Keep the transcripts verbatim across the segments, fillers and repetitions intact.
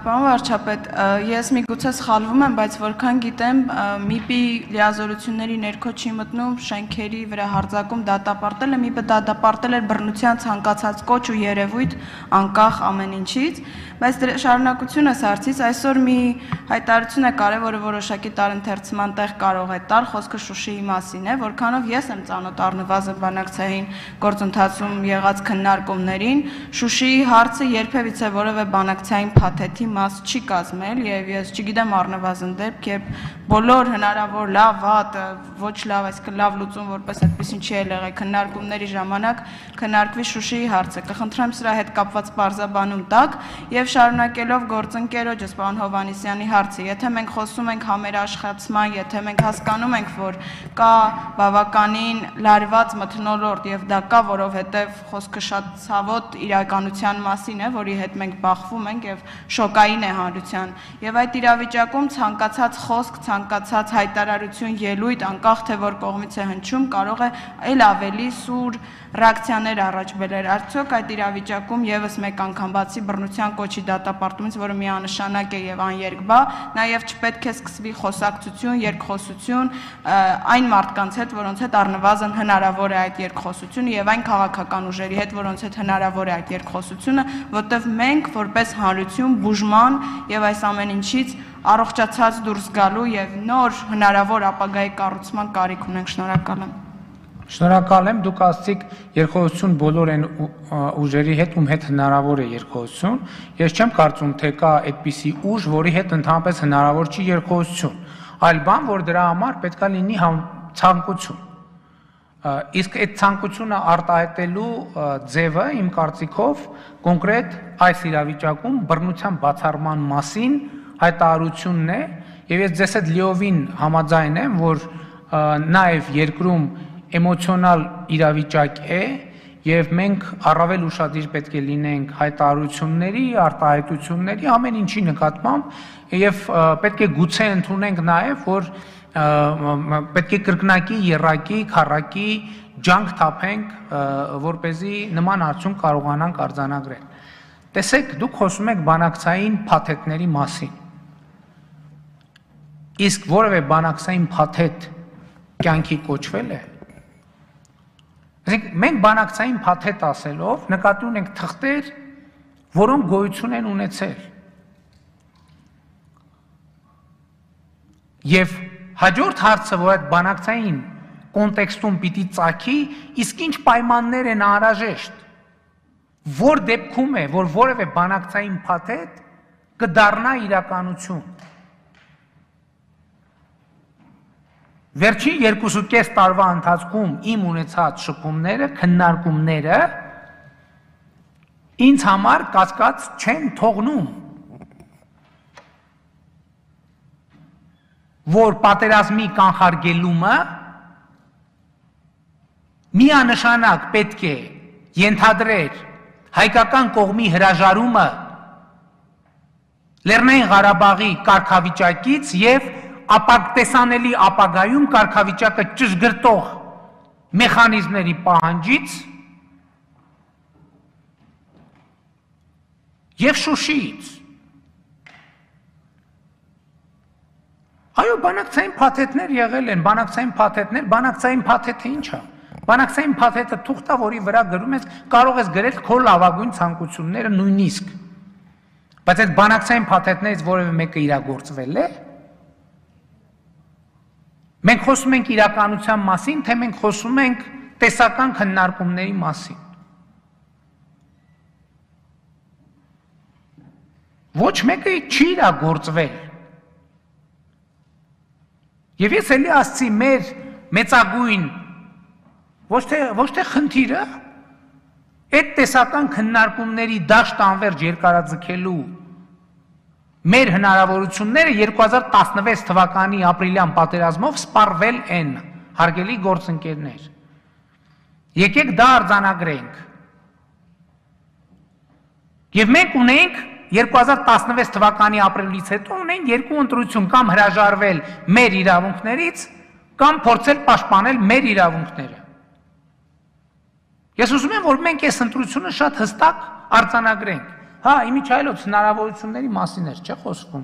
Պարոն վարչապետ, ես միգուցե սխալվում եմ, բայց որքան գիտեմ, ՄԻՊ-ի լիազորությունների ներքո չի մտնում շենքերի վրա հարձակում դատապարտելը, ՄԻՊ-ը դատապարտել էր բռնության ցանկացած կոչ ու երևույթ անկախ ամեն ինչից, բայց շարունակությունը հարցից այսօր մի հայտարարություն է կարել, որը որոշակի տարընթերցման տեղ կարող է տալ, խոսքը Շուշիի մասին է, որքանով ես եմ ծանոթ առնվազն բանակցային գործընթացում եղած քննարկումներին, Շուշիի հարցը երբևիցե որևէ բանակցային փաթեթի մաս չի կազմել եւ ես չգիտեմ առնվազն դեպք, երբ բոլոր հնարավոր լավ, վատ, ոչ լավ, այսինքն լավ լուծում որպես այդպեսին չի եղել քննարկումների ժամանակ քննարկվի Շուշիի հարցը։ Կխնդրեմ սրա հետ կապված բարձաբանում տակ եւ շարունակելով գործընկերոջս պարոն Հովհաննիսյանի հարցը, եթե մենք խոսում ենք համերաշխատման, եթե մենք հասկանում ենք, որ կա բավականին լարված մթնոլորտ եւ դա կա, որովհետեւ խոսքը շատ ցավոտ իրականության մասին է, որի հետ մենք բախվում ենք եւ շոկային է հանրության եւ այդ իրավիճակում ցանկացած խոսք, ցանկացած հայտարարություն, ելույթ անկախ թե որ կողմից է հնչում կարող է այլ ավելի սուր ռեակցիաներ առաջ բերել։ Արդյոք այդ իրավիճակում եւս մեկ անգամ բացի բռնության կոչի դատապարտումից, որը միանշանակ է եւ աներկբա, նաեւ չպետք է սկսվի խոսակցություն, երկխոսություն այն մարդկանց հետ, որոնց հետ առնվազն հնարավոր է այդ երկխոսությունը եւ այն քաղաքական ուժերի հետ, որոնց հետ հնարավոր է այդ երկխոսությունը, որտեղ մենք որպես հանրություն բուժման եւ այս ամեն ինչից առողջացած դուրս գալու եւ նոր հնարավոր ապագայի կառուցման կարիք ունենք։ Շնորհակալ եմ։ Շնորհակալ եմ, դուք ասացիք երկխոսություն բոլոր այն ուժերի հետ, ում հետ հնարավոր է երկխոսություն։ Ես չեմ կարծում, թե կա այդպիսի ուժ, որի հետ ընդհանրապես հնարավոր չի երկխոսություն, այլ բան, որ դրա համար պետք է լինի ցանկություն։ Իսկ այդ ցանկությունը արտահայտելու ձևը իմ կարծիքով կոնկրետ այս իրավիճակում բռնության բացառման մասին հայտարարությունն է, եւ ես ձեզ հետ լիովին համաձայն եմ, որ նաեւ երկրում էմոցիոնալ իրավիճակ է եւ մենք առավել ուշադիր պետք է լինենք հայտարարությունների, արտահայտությունների, ամեն ինչի նկատմամբ եւ պետք է գուցե ընդունենք նաեւ, որ պետք է կրկնակի, եռակի, քառակի ջանք թափենք, որպեսզի նման արդյունք կարողանանք արձանագրել։ Տեսեք, դուք խոսում եք բանակցային փաթեթների մասին։ Իսկ որևէ բանակցային փաթեթ կյանքի կոչվել է։ Այսինքն մենք բանակցային փաթեթ ասելով նկատի ունենք թղթեր, որոնք գոյություն են ունեցել։ Եվ հաջորդ հարցը, որ այդ բանակցային կոնտեքստում պիտի ծագի, իսկ ինչ պայմաններ են անհրաժեշտ, որ դեպքում է, որ որևէ բանակցային փաթեթ կդառնա իրականություն։ Վերջին երկուսուկես տարվա ընթացքում իմ ունեցած շփումները, քննարկումները ինձ համար կասկած չեն թողնում, որ պատերազմի կանխարգելումը միանշանակ պետք է ենթադրեր հայկական կողմի հրաժարումը Լեռնային Ղարաբաղի կարգավիճակից եւ ապագտեսանելի ապագայում կարգավիճակը ճշգրտող մեխանիզմների պահանջից եւ Շուշիից։ Այո, բանակցային փաթեթներ եղել են, բանակցային փաթեթներ, բանակցային փաթեթը ինչ է։ Բանակցային փաթեթը թուղթ է, որի վրա գրում ես, կարող ես գրել քո լավագույն ցանկությունները նույնիսկ։ Բայց այդ բանակցային փաթեթներից որևէ մեկը իրագործվել է։ Մենք խոսում ենք իրականության մասին, թե մենք խոսում ենք տեսական քննարկումների մասին։ Ոչ մեկը չի իրագործվել։ Եվ ես էլի ասացի մեր մեծագույն ոչ թե ոչ թե խնդիրը այդ տեսական քննարկումների դաշտ անվերջ երկարաձգելու մեր հնարավորությունները երկու հազար տասնվեց թվականի ապրիլյան պատերազմով սպառվել են, հարգելի գործընկերներ։ Եկեք դա արձանագրենք։ Եվ մենք ունենք երկու հազար տասնվեց թվականի ապրիլից հետո ունենք երկու ընտրություն, կամ հրաժարվել մեր իրավունքներից, կամ փորձել պաշտպանել մեր իրավունքները։ Ես ուզում եմ, որ մենք այս ընտրությունը շատ հստակ արձանագրենք։ հա, իմիջայլոց հնարավորությունների մասին էր, չէ՞ խոսքում։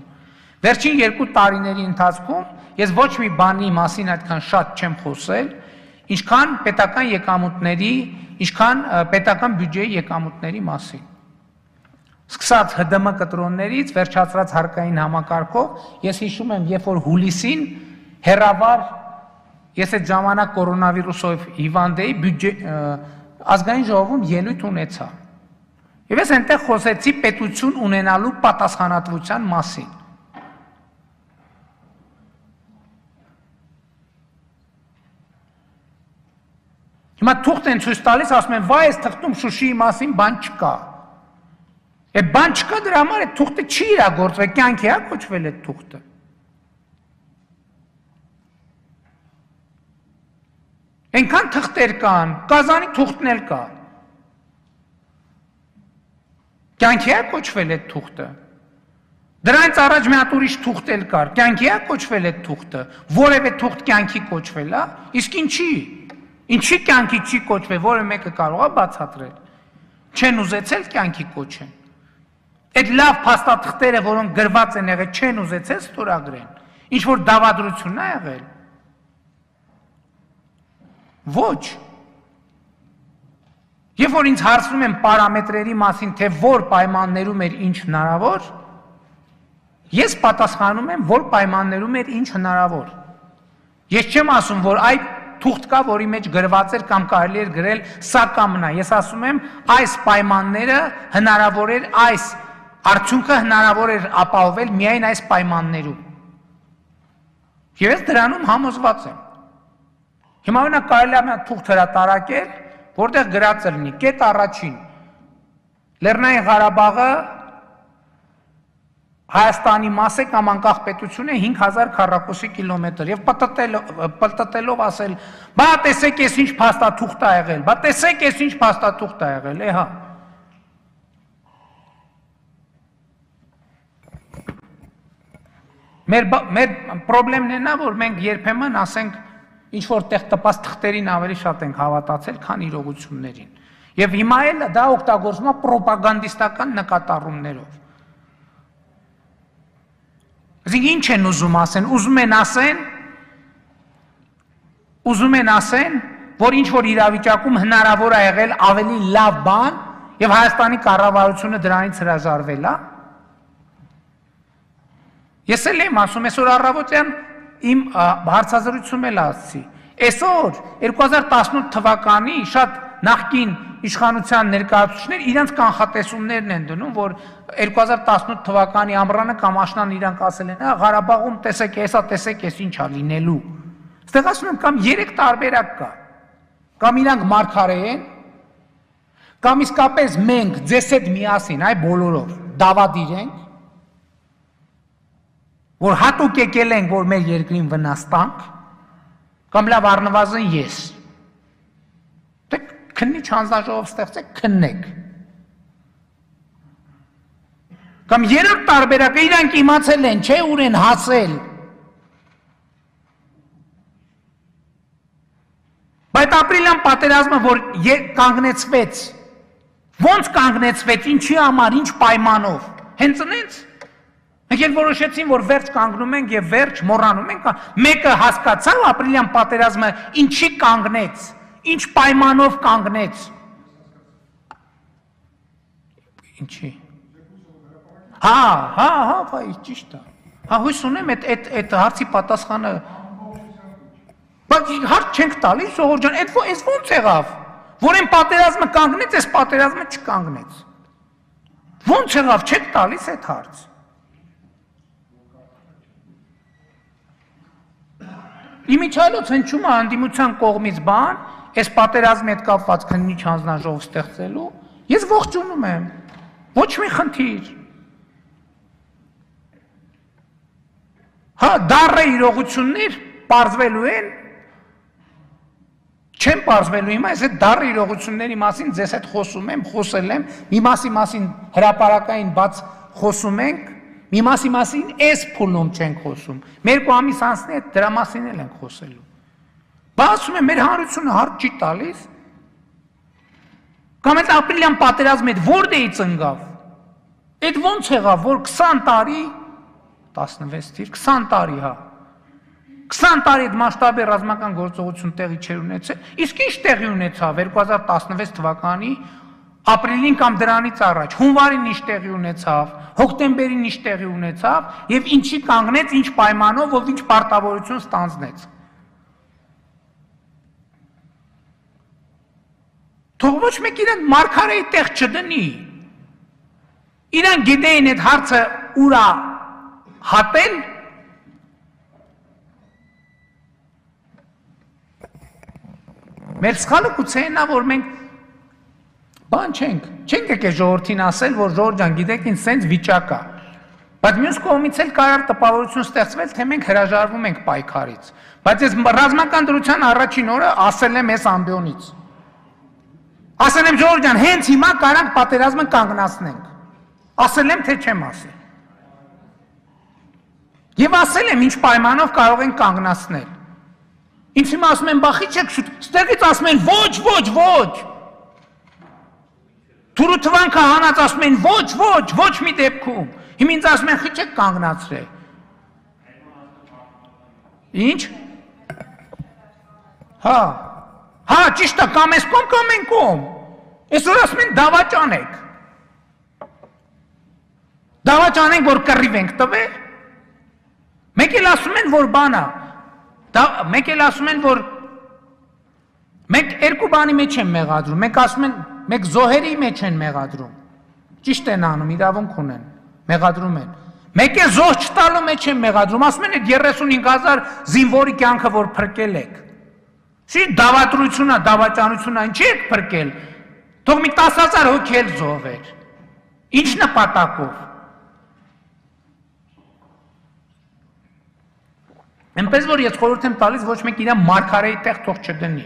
Վերջին երկու տարիների ընթացքում ես ոչ մի բանի մասին այդքան շատ չեմ խոսել, ինչքան պետական եկամուտների, ինչքան պետական բյուջեի եկամուտների մասին։ Սկսած Հ Դ M կտրոններից, վերջացրած հարկային համակարգով, ես հիշում եմ, երբ որ հուլիսին հերավար, ես այդ ժամանակ կորոնավիրուսով հիվանդ էի, բյուջե ազգային ժողովում ելույթ ունեցա։ Եվ ես այնտեղ խոսեցի պետություն ունենալու պատասխանատվության մասին։ Հիմա թուղթ են ցույց տալիս, ասում են, վայ, այս թղթում Շուշիի մասին բան չկա։ Այդ բան չկա, դրա համար այդ թուղթը չի իրագործվել, կյանքի է կոչվել այդ թուղթը։ Այնքան թղթեր կան, Կազանի թուղթն էլ կա։ Կյանքի է կոչվել այդ թուղթը։ Դրանից առաջ մի հատ ուրիշ թուղթ էլ կար, կյանքի է կոչվել այդ թուղթը, որևէ թուղթ կյանքի կոչվել է, իսկ ինչի։ Ինչի կյանքի չի կոչվել, որը մեկը կարող է բացատրել։ Չեն ուզեցել կյանքի կոչեն։ Այդ լավ փաստաթղթերը, որոնք գրված են եղել, չեն ուզեցել ստորագրեն։ Ինչ որ դավադրություն է եղել։ Ոչ։ Երբ որ ինձ հարցնում են պարամետրերի մասին, թե որ պայմաններում էր ինչ հնարավոր, ես պատասխանում եմ, որ պայմաններում էր ինչ հնարավոր։ Ես չեմ ասում, որ այդ թուղթ կա, որի մեջ գրված էր կամ կարելի էր գրել սա կամ նա։ Ես ասում եմ, այս պայմանները հնարավոր էր, այս արդյունքը հնարավոր էր ապահովել միայն այս պայմաններում։ Եվ ես դրանում համոզված եմ։ Հիմա օրինակ կարելի է մի թուղթ հրատարակել, որտեղ գրած լինի կետ առաջին Լեռնային Ղարաբաղը Հայաստանի մաս է կամ անկախ պետություն է հինգ հազար քառակուսի կիլոմետր եւ պտտելով ասել, բա տեսեք ես ինչ փաստաթուղթ ա եղել, բա տեսեք ես ինչ փաստաթուղթ ա եղել, է հա։ Մեր մեր խնդիրն է նա, որ մենք երբեմն ասենք ինչ որտեղ տպած թղթերին ավելի շատ ենք հավատացել, քան իրողություններին։ Եվ հիմա էլ դա օգտագործվում է պրոպագանդիստական նկատառումներով։ Այսինքն ինչ են ուզում ասեն, ուզում են ասեն, ուզում են ասեն, որ ինչ որ իրավիճակում հնարավոր է եղել ավելի լավ բան եւ Հայաստանի կառավարությունը դրանից հրաժարվել է։ Ես էլ եմ ասում, այսօր առավոտյան իմ հարցազրույցում էլ ասացի, այսօր երկու հազար տասնութ թվականի շատ նախկին իշխանության ներկայացուցիչներ իրենց կանխատեսումներն են դնում, որ երկու հազար տասնութ թվականի ամռանը կամ աշնան իրանք ասել են, Ղարաբաղում տեսեք, հեսա տեսեք, ես ինչ է լինելու։ Այստեղ ասում եմ, կամ երեք տարբերակ կա։ Կամ իրանք մարգարե են, կամ իսկապես մենք ձեզ հետ միասին, այ բոլորով դավադիր ենք, որ հատուկ եկել ենք, որ մեր երկրին վնաս տանք, կամ լավ առնվազն ես։ Դե քննիչ հանձնաժողով ստեղծեք, քննեք։ Կամ երրորդ տարբերակը իրանք իմացել են, չէ, ուր են հասել։ Բայց ապրիլյան պատերազմը, որ կանգնեցվեց, ոնց կանգնեցվեց, ինչի համար, ինչ պայմանով, հենց ընենց։ Մենք էլ որոշեցին, որ վերջ կանգնում ենք եւ վերջ մոռանում ենք, մեկը հասկացավ ապրիլյան պատերազմը ինչի կանգնեց, ինչ պայմանով կանգնեց։ Ինչի։ Հա, հա, հա, վայ, ճիշտ է։ Հա, հույս ունեմ այդ այդ այդ հարցի պատասխանը։ Բայց հարց չենք տալիս, Սողոր ջան, այդ այս ո՞նց եղավ, որ այն պատերազմը կանգնեց, այս պատերազմը չկանգնեց։ Ո՞նց եղավ, չեք տալիս այդ հարց։ Իմիջայլոց հնչում է հանդիմության կողմից բան, այս պատերազմի հետ կապված քննիչ հանձնաժողով ստեղծելու, ես ողջունում եմ, ոչ մի խնդիր։ Հա, դառը իրողություններ պարզվելու են, չեմ պարզվելու հիմա, ես այդ դառը իրողությունների մասին ձեզ հետ խոսում եմ, խոսել եմ, մի մասի մասին հրապարակային բաց խոսում ենք, մի մասի մասին այս փուլում չենք խոսում, մեր կողմից անցնի այդ դրա մասին էլ ենք խոսելու։ Բա ասում եմ, մեր հանրությունը հարց չի տալիս, կամ այդ ապրիլյան պատերազմը որտեղից ընկավ, Այդ ոնց եղավ, որ քսան տարի, տասնվեց թիվ, քսան տարի, հա, քսան տարի այդ մասշտաբի ռազմական գործողություն տեղի չէր ունեցել, իսկ ինչ տեղի ունեցավ երկու հազար տասնվեց թվականի ապրիլին կամ դրանից առաջ, հունվարին ինչ տեղի ունեցավ, հոկտեմբերին ինչ տեղի ունեցավ եւ ինչի կանգնեց, ինչ պայմանով, ով ինչ պարտավորություն ստանձնեց։ Թող ոչ մեկ իրեն մարգարեի տեղ չդնի։ Իրեն գիտեին այդ հարցը ուրա հատել, մեր սխալը գուցե նա, որ մենք բան չենք, չենք եկել ժողովրդին ասել, որ ժողովուրդ ջան, գիտեք, ինձ սենց վիճակ է։ Բայց մյուս կողմից էլ կարար տպավորություն ստեղծվել, թե մենք հրաժարվում ենք պայքարից։ Բայց ես ռազմական դրության առաջին օրը ասել եմ այս ամբիոնից։ Ասել եմ ժողովուրդ ջան, հենց հիմա կարանք պատերազմը կանգնացնենք։ Ասել եմ, թե չեմ ասել։ Եվ ասել եմ, ինչ պայմանով կարող ենք կանգնացնել։ Ինձ հիմա ասում են, բախի չեք շուտ, ստեղից ասում են, ոչ, ոչ, ոչ։ Թուրութվանքը հանած ասում են, ոչ, ոչ, ոչ մի դեպքում։ Հիմա ինձ ասում են, խի չեք կանգնացրել։ Ինչ։ Հա, հա, ճիշտ է, կամ ես կոմ, կամ են կոմ։ Այսօր ասում են, դավաճանեք։ Դավաճանենք, որ կռիվ ենք տվել։ Մեկ էլ ասում են, որ բանա, մեկ էլ ասում են, որ մեկ երկու բանի մեջ են մեղադրում, մեկ ասում են, մեկ զոհերի մեջ են մեղադրում, ճիշտ են անում, իրավունք ունեն, մեղադրում են, մեկ է զոհ չտալու մեջ են մեղադրում, ասում են այդ երեսունհինգ հազար զինվորի կյանքը, որ փրկել եք, շի դավատրությունա, դավաճանությունա, ինչի եք փրկել, թող մի տասը հազար հոգի էլ զոհվեր, ինչ նպատակով։ Այնպես որ ես խորհուրդ եմ տալիս ոչ մեկ իրան մարգարեի տեղ թող չդնի։